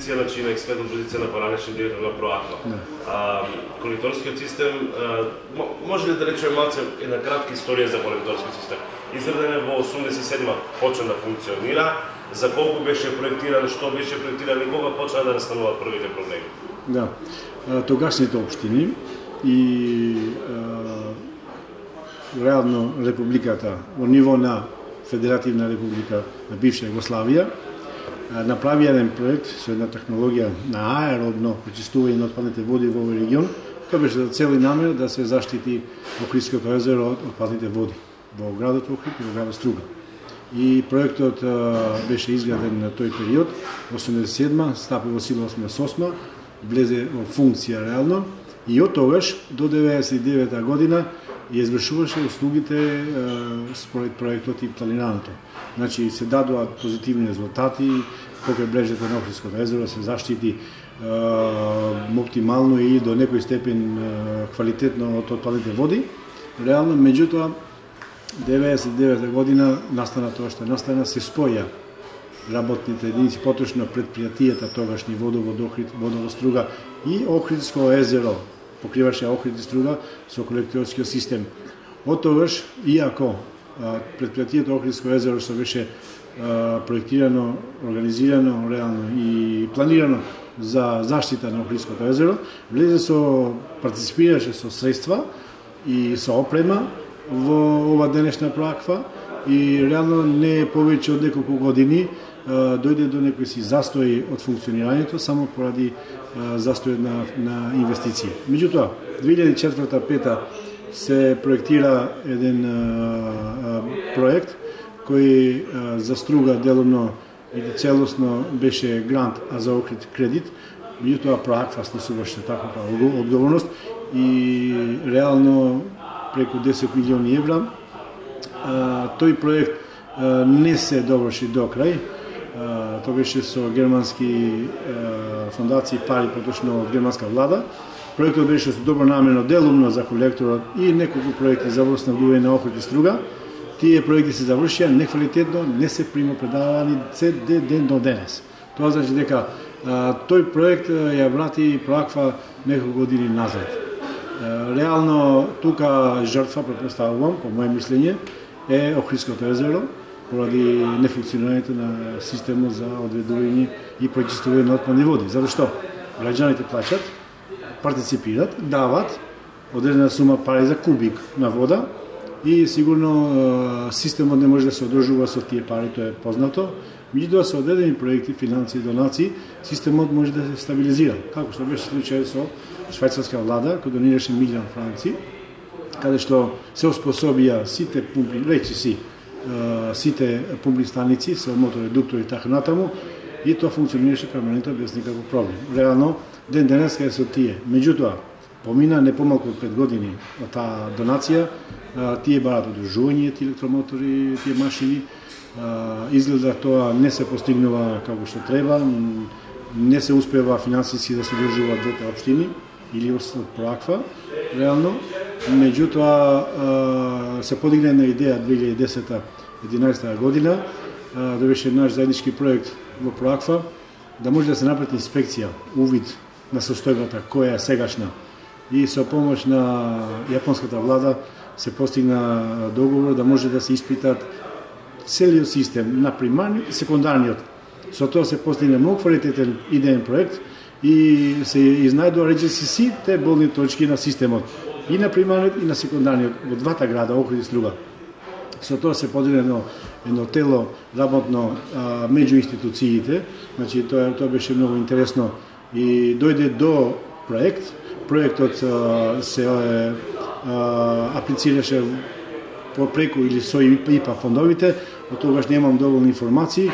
позиција, значи на експертна позиција на поранешен директор на Проаква. Колекторскиот систем, може ли да речеме малце една кратка историја за колекторскиот систем? Изграден е во 87-ма, почна да функционира, за колку беше проектиран, што беше проектиран и кога почна да настануваат првите проблеми? Да, тогашните општини и реално републиката во ниво на Федеративна република на бивша Југославија направи еден проект со една технологија на аеробно пречистување на отпадните води во овој регион, кој беше за цел и намера да се заштити Охридското езеро од отпадните води во градот Охрид и во градот Струга. И проектот беше изграден на тој период, 87-ма, стапи во сила 88-ма, влезе во функција реално и од тогаш до 99-та година ја извршуваше услугите според проектот и планираното. Значи се дадуваат позитивни резултати, покрај брежето на Охридското езеро се заштити оптимално и до некој степен квалитетно од отпадните води. Реално, меѓутоа, 99 година настана тоа што настана, се споја работните единици, поточно предпријатијата тогашни водовод Охрид, водовод Струга и Охридско езеро, покриваше Охрид и Струга со колекторскиот систем. Од тогаш, иако предпријатијата Охридско езеро што беше проектирано, организирано реално и планирано за заштита на Охридското езеро, влезе со партиципираше со средства и со опрема во ова денешна Проаква и реално не повеќе од неколку години дојде до некој си застој од функционирањето само поради застој на инвестиции. Меѓутоа, 2004-2005 се проектира еден проект кој за Струга делумно и целосно беше грант, а за Охрид кредит. Меѓутоа Проаква снесуваше таква одговорност и реално преку 10 милиони евра. Тој проект не се доврши до крај. Тоа беше со германски фондации, пари поточно од германска влада. Проектот беше со добро намерно делумно за колекторот и неколку проекти за воснабдување на Охрид и Струга. Тие проекти се завршија неквалитетно, не се примопредавани се ден до денес. Тоа значи дека тој проект ја врати Проаква неколку години назад. Реално тука жртва, претпоставувам, по моје мислење, е Охридското езеро, поради нефункционирањето на системот за одведување и пречистување на отпадни води. Затоа што граѓаните плаќат, партиципират, дават одредена сума пари за кубик на вода и сигурно системот не може да се одржува со тие пари, тоа е познато. Меѓутоа со одредени проекти, финансии, донации, системот може да се стабилизира, како што беше случај со швајцарска влада, кој донираше милион франци, каде што се оспособија сите пумпи, сите пумпни станици со моторедуктори и така натаму, и тоа функционираше перманентно без никаков проблем. Реално, ден денеска е со тие. Меѓутоа, помина не помалку од 5 години од таа донација, тие барат одржување, тие електромотори, тие машини, изгледа тоа не се постигнува како што треба, не се успева финансиски да се одржуваат двете општини или од Проаква, реално. Меѓутоа се подигна една идеја 2010-2011 година, да беше наш заеднички проект во Проаква, да може да се направи инспекција, увид на состојбата која е сегашна. И со помош на јапонската влада се постигна договор да може да се испитат целиот систем на примарниот и секундарниот. Со тоа се постигна многу квалитетен идеен проект и се изнајдува речиси сите болни точки на системот, и на примарниот и на секундарниот во двата града Охрид и Струга. Со тоа се поделено едно тело работно меѓу институциите, значи тоа беше многу интересно и дојде до проект. Проектот се аплицираше преку или со ИПА фондовите, од тогаш немам доволни информации.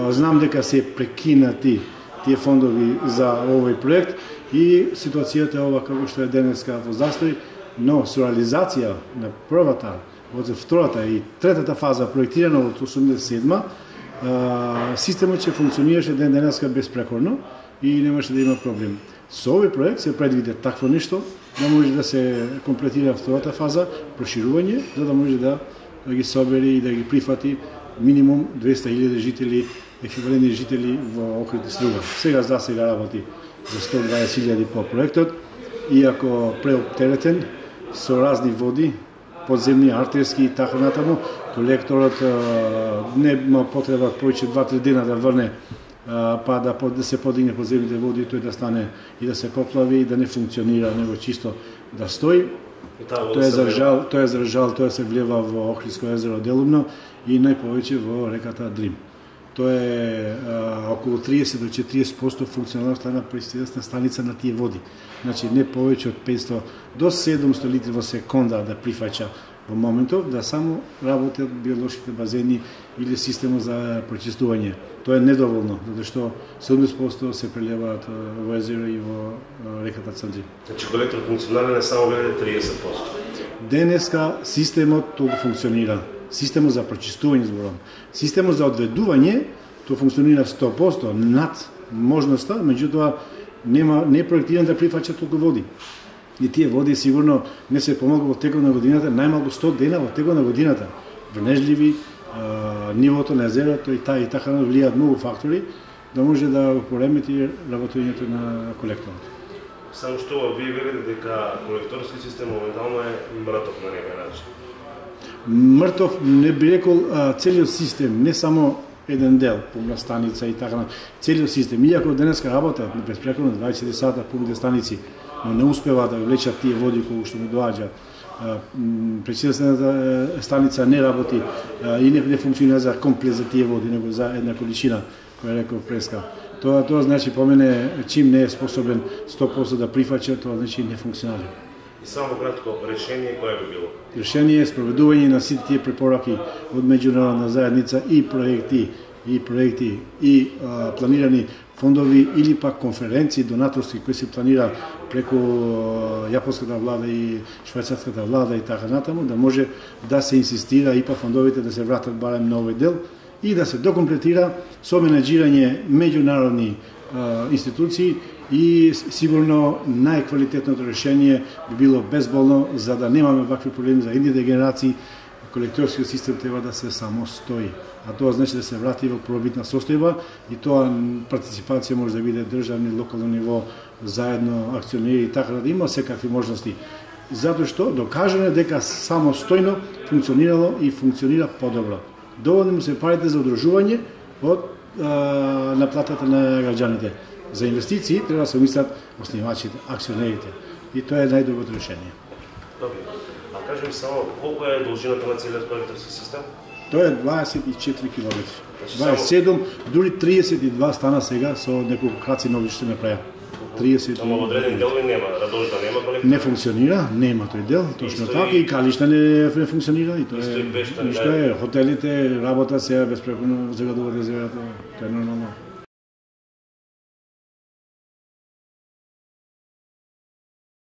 Знам дека се прекинати тие фондови за овој проект и ситуацијата е ова како што е денеска во застој, но со реализација на првата, втората и третата фаза проектирана од 87-ма, системот ќе функционираше ден денеска безпрекорно и немаше да има проблем. Со овој проект се предвиде такво нешто, да може да се комплетира втората фаза, проширување, за да може да ги собери и да ги прифати минимум 200.000 жители еквивалентни жители во Охрид и Струга. Сега работи за 120.000 по проектот, иако преоптеретен со разни води, подземни, артерски и така натаму, колекторот нема потреба повеќе 2-3 дена да врне, па да се подигне подземните води, тој да стане и да се поплави и да не функционира, него чисто да стои. Тоа се влева во Охридско езеро делумно и најповеќе во реката Дрим. Тоа е околу 30 до 40% функционалноста на пречистилна станица на тие води. Значи не повеќе од 500 до 700 литри во секонда да прифаќа во моментов, да само работат биолошките базени или системот за пречистување. Тоа е недоволно, затоа што 70% се прелеваат во езеро и во реката Цандрим. Значи колектор функционален е само 30%. Денеска системот толку функционира. Системот за пречистување зборам. Системот за одведување тоа функционира 100% над можноста, меѓутоа не е проектиран да прифаќа толку води. И тие води сигурно не се помогу во текот на годината, најмалку 100 дена во текот на годината. Врнежливи, нивото на езерото и така влијаат многу фактори да може да поремети работењето на колекторот. Само што вие велите дека колекторски систем моментално е мртов на некој начин. Мртов не би рекол целиот систем, не само еден дел, пумна станица и така, целиот систем. Иако денеска работат безпрекорно 24 сата пумните станици, но не успева да влечат тие води кои што му доаѓа. Пречистената станица не работи и не функционира за комплет за тие води, него за една количина, која реков преска. Тоа значи по мене чим не е способен 100% да прифаќа, тоа значи не функционира. И само кратко, решение кое би било? Решение е спроведување на сите тие препораки од меѓународна заедница и проекти и планирани фондови или пак конференции донаторски кои се планира преку јапонската влада и швајцарската влада и така натаму, да може да се инсистира и па фондовите да се вратат барем на овој дел и да се докомплетира со менеджирање меѓународни институции и сигурно најквалитетното решение би било безболно за да немаме вакви проблеми за идните генерации. Колекторскиот систем треба да се самостои, а тоа значи да се врати во пробитна состојба и тоа партиципација може да биде државни, локално ниво, заедно акционери и така да има секакви можности. Затоа што докажано е дека самостојно функционирало и функционира подобро. Доволни му се парите за удружување од наплатата на граѓаните. За инвестиции треба да се мислат оснивачите, акционерите. И тоа е најдоброто решение. Добре. А кажем само, колку е должината на целиот колекторски систем? Тоа е 24 км. 27, дури 32 стана сега со неколку краци нови што ме праја. 30. Ама во одреден дел нема, Радожда нема колектор? Не функционира, нема тој дел, точно така и Калишта не функционира и тоа е. Ништо е, хотелите работат сега безпрекорно, загадуваат езерото, тоа е нормално.